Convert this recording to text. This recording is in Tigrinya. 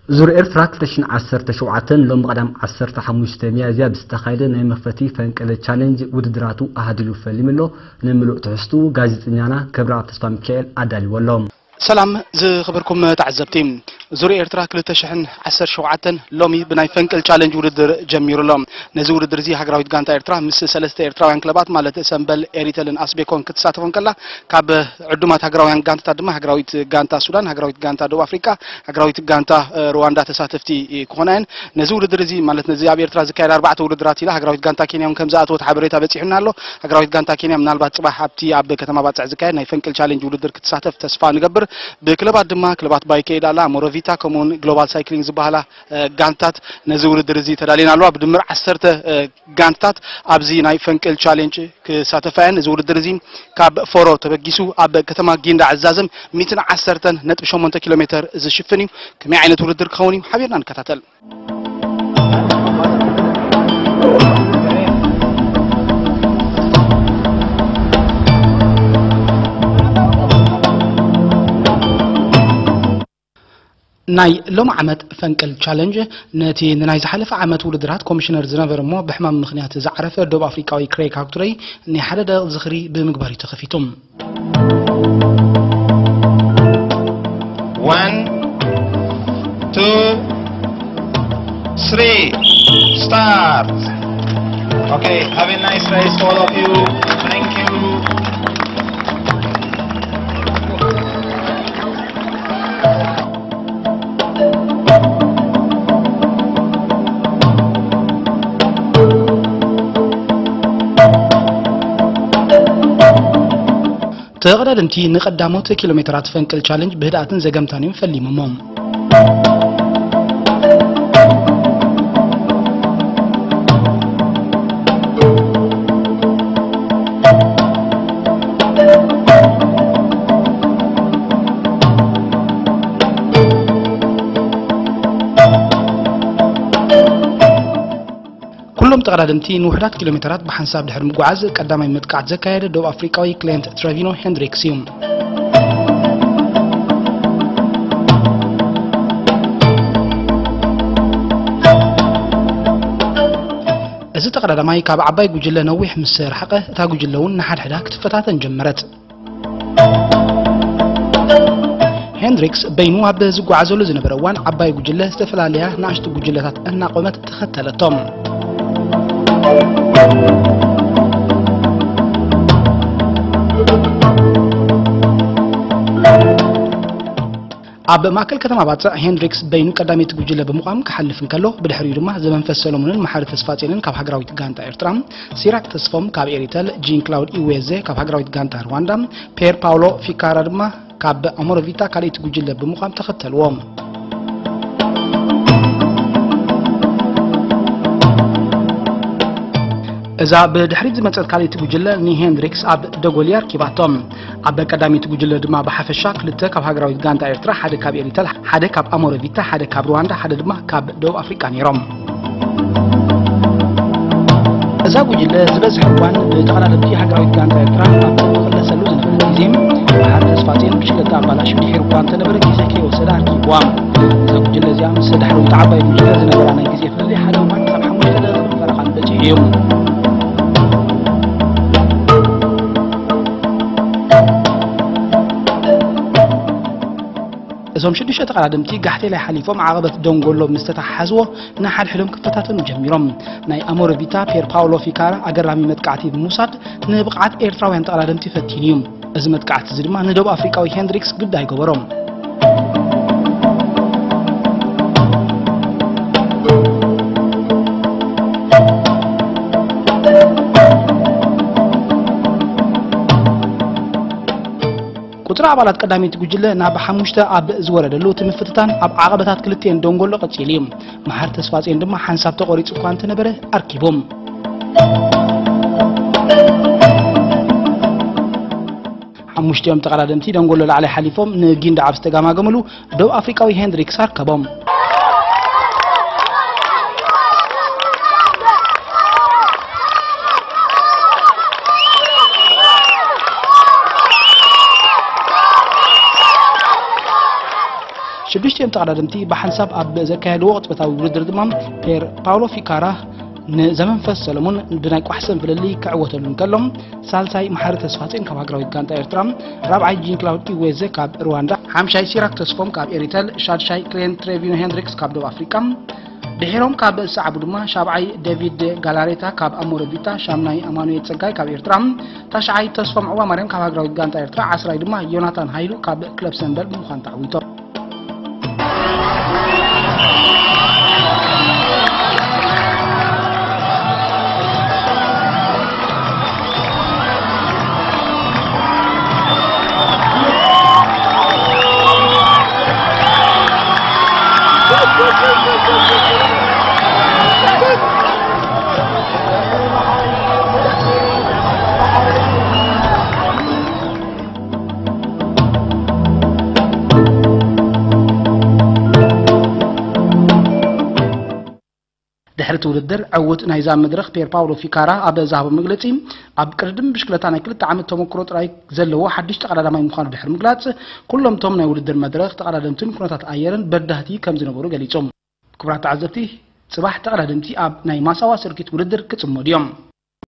ዙር ኤርትራ ክልተ ሽሕን ዓሰርተ ሸውዓተን ሎሚ ቀዳም ዓሰርተ ሓሙሽተ ሚያዝያ ብዝተኻየደ ናይ መኽፈቲ ፈንቅል ቻሌንጅ ውድድራቱ ኣሃዲሉ ፈሊሙ ኣሎ። ንምሉእ ትሕዝቱ ጋዜጠኛና ክብረኣብ ተስፋ ሚካኤል ኣዳልዎ ኣሎ። ሰላም ዝኽብርኩም ተዓዘብቲ፣ ዙር ኤርትራ ክልተ ሽሕን ዓሰርተ ሸውዓተን ሎሚ ብናይ ፈንቅል ቻሌንጅ ውድድር ጀሚሩ ኣሎ። ነዚ ውድድር እዚ ሃገራዊት ጋንታ ኤርትራ ምስ ሰለስተ ኤርትራውያን ክለባት ማለት ሰምበል፣ ኤሪተልን ኣስቤኮን ክትሳተፎ እንከላ፣ ካብ ዕዱማት ሃገራውያን ጋንታታት ድማ ሃገራዊት ጋንታ ሱዳን፣ ሃገራዊት ጋንታ ደቡብ ኣፍሪቃ፣ ሃገራዊት ጋንታ እ፣ ሩዋንዳ ተሳተፍቲ ክኾና እየን። ነዚ ውድድር እዚ ማለት ነዚ ኣብ ኤርትራ ዝካየድ ኣርባዕተ ውድድራት ኢላ ሃገራዊት ጋንታ ኬንያ እውን ከም ዝኣተወት ሓበሬታ በጺሑና ኣሎ። ሃገራዊት ጋንታ ኬንያ ምናልባት ጽባሕ ኣብቲ ኣብ ከተማ ባጽዕ ዝካየድ ናይ ፈንቅል ቻሌንጅ ውድድር ክትሳተፍ ተስፋ ንገብር። ብክለባት ድማ ክለባት ባይከ ኤዳላ፣ ሞሮቪታ ከምኡውን ግሎባል ሳይክሊንግ ዝበሃላ እ፣ ጋንታት ነዚ ውድድር እዚ ተዳልየን ኣለዋ። ብድምር ዓሰርተ እ፣ ጋንታት ኣብዚ ናይ ፈንቅል ቻሌንጅ ክሳተፋ እየን። እዚ ውድድር እዚ ካብ ፎሮ ተበጊሱ ኣብ ከተማ ጊንዳዕ ዝዛዘም ሚእትን ዓሰርተን ነጥቢ ሸሞንተ ኪሎ ሜተር ዝሽፍን እዩ። ከመይ ዓይነት ውድድር ክኸውን እዩ? ሓቢርና ንከታተል። ናይ ሎሚ ዓመት ፈንቅል ቻለንጅ ነቲ ንናይ ዝሓለፈ ዓመት ውድድራት ኮሚሽነር ዝነበረ እሞ ብሕማም ምኽንያት ዝዓረፈ ደቡብ ኣፍሪቃዊ ክሬግ ሃክቱረይ ናይ ሓደ ደቂቕ ዝኽሪ ብምግባር እዩ ተኸፊቱ። One, two, three, start. Okay, have a nice race to all of you. Thank you. ተቐዳደምቲ ንቐዳሞት ኪሎ ሜትራት ፈንቅል ቻለንጅ ብህድኣትን ዘገምታን እዮም ፈሊሞሞ። ኩሎም ተቐዳደምቲ ንውሑዳት ኪሎ ሜተራት ብሓንሳብ ድሕሪ ምጉዓዝ፣ ቀዳማይ መጥቃዕቲ ዘካየደ ደቡብ ኣፍሪቃዊ ክሌንት ትረቪኖ ሄንድሪክስ እዩ። እዚ ተቐዳዳማይ ካብ ዓባይ ጉጅለ ነዊሕ ምስ ረሓቐ፣ እታ ጉጅለ እውን ንሓድሕዳ ክትፈታተን ጀመረት። ሄንድሪክስ በይኑ ኣብ ዝጓዓዘሉ ዝነበረ እዋን፣ ዓባይ ጉጅለ ዝተፈላለያ ንኣሽቱ ጉጅለታት እናቖመት ተኸተለቶም። ኣብ ማእከል ከተማ ባጽዕ፣ ሄንድሪክስ በይኑ ቀዳመይቲ ጉጅለ ብምዃም ክሓልፍ እንከሎ፣ ብድሕሪኡ ድማ ዘመንፈስ ሰሎሞንን መሓሪ ተስፋጼንን ካብ ሃገራዊት ጋንታ ኤርትራ፣ ሲራክ ተስፎም ካብ ኤሪተል፣ ጂን ክላውድ ኢዌዜ ካብ ሃገራዊት ጋንታ ሩዋንዳ፣ ፔር ፓውሎ ፊካራ ድማ ካብ ኣሞሮቪታ ካልኣይቲ ጉጅለ ብምዃም ተኸተልዎ። እዛ ብድሕሪት ዝመጸት ካልኣይቲ ጉጅለ ንሄንድሪክስ ኣብ ደጎሊ ኣርኪባቶ። ኣብ ቀዳመይቲ ጉጅለ ድማ ብሓፈሻ ክልተ ካብ ሃገራዊት ጋንታ ኤርትራ፣ ሓደ ካብ ኤሪተል፣ ሓደ ካብ ኣሞሮቪታ፣ ሓደ ካብ ሩዋንዳ፣ ሓደ ድማ ካብ ደቡብ ኣፍሪቃ ነይሮም። እዛ ጉጅለ ዝበዝሐ እዋን ብተቐዳደምቲ ሃገራዊት ጋንታ ኤርትራ ኣብ ትቕለሰሉ ዝነበረት ግዜ፣ መሓሪ ተስፋጼን ብሽክለታ ኣባላሹ ድሒሩ እኳ እንተነበረ፣ ግዜ ከይወሰደ ኣርኪብዋ። እዛ ጉጅለ እዚኣ ምስ ዳሕረዊት ዓባይ ጉጅለ ዝነበራ ናይ ግዜ ፍልልይ ሓደ እዋን ክሳብ ሓሙሽተ ደቂቕ ፈረቓ ንበጺሑ እዩ። እዞም ሽዱሽተ ተቐዳደምቲ ጋሕቴላይ ሓሊፎም ዓቐበት ደንጎሎ ምስ ተተሓሓዝዎ፣ ንሓድሕዶም ክፈታተኑ ጀሚሮም። ናይ ኣሞረቪታ ፔር ፓውሎ ፊካራ ኣገራሚ መጥቃዕቲ ብምውሳድ ንብቕዓት ኤርትራውያን ተቐዳደምቲ ፈቲኑ እዩ። እዚ መጥቃዕቲ እዚ ድማ ንደቡብ ኣፍሪቃዊ ሄንድሪክስ ግዳ ኣይገበሮም። ቁጽሪ ኣባላት ቀዳመይቲ ጉጅለ ናብ ሓሙሽተ ኣብ ዝወረደሉ፣ እቲ ምፍትታን ኣብ ዓቐበታት ክልቲኤን ደንጎሎ ቀጺሉ እዩ። መሓር ተስፋጼን ድማ ሓንሳብ ተቖሪጹ እኳ እንተነበረ ኣርኪቡ። ሓሙሽቲኦም ተቐዳደምቲ ደንጎሎ ላዕላይ ሓሊፎም ንጊንዳ ኣብ ዝተጋማገምሉ፣ ደቡብ ኣፍሪቃዊ ሄንድሪክስ ኣርከቦም። ሽዱሽቲኦም ተቐዳደምቲ ብሓንሳብ ኣብ ዘካየድዎ ቅጽበታዊ ውድድር ድማ ፔር ፓውሎ ፊካራ ንዘመንፈስ ሰለሙን ብናይ ቋሕሰን ፍልልይ ክዕወተሉ እንከሎ፣ ሳልሳይ መሓሪ ተስፋጽዮን ካብ ሃገራዊት ጋንታ ኤርትራ፣ ራብዓይ ጂን ክላውድ ኢዌዘ ካብ ሩዋንዳ፣ ሓምሻይ ሲራክ ተስፎም ካብ ኤሪተል፣ ሻድሻይ ክሌን ትሬቪኖ ሄንድሪክስ ካብ ደቡብ ኣፍሪቃ፣ ድሒሮም ካብ ዝሰዓቡ ድማ ሻብዓይ ዴቪድ ጋላሬታ ካብ ኣሞረ ቢታ፣ ሻምናይ ኣማኑኤል ጸጋይ ካብ ኤርትራ፣ ታሽዓይ ተስፎም ዑባ ማርያም ካብ ሃገራዊት ጋንታ ኤርትራ፣ ዓስራይ ድማ ዮናታን ሃይሉ ካብ ክለብ ሰንደል ብምዃን ተዓዊቶም። ድሕሪ እቲ ውድድር ዕዉት ናይዛ መድረኽ ፔር ፓውሎ ፊካራ ኣብ ዝሃቦ መግለጺ፣ ኣብ ቅድድም ብሽክለታ ናይ ክልተ ዓመት ተመክሮ ጥራይ ዘለዎ ሓድሽ ተቐዳዳማይ ምዃኑ ድሕሪ ምግላጽ፣ ኩሎም እቶም ናይ ውድድር መድረኽ ተቐዳደምትን ኩነታት ኣየርን በዳህቲ ከም ዝነበሩ ገሊጹ። ክቡራት ተዓዘብቲ፣ ጽባሕ ተቐዳደምቲ ኣብ ናይ ማሳዋ ሰርኪት ውድድር ክጽመዱ እዮም።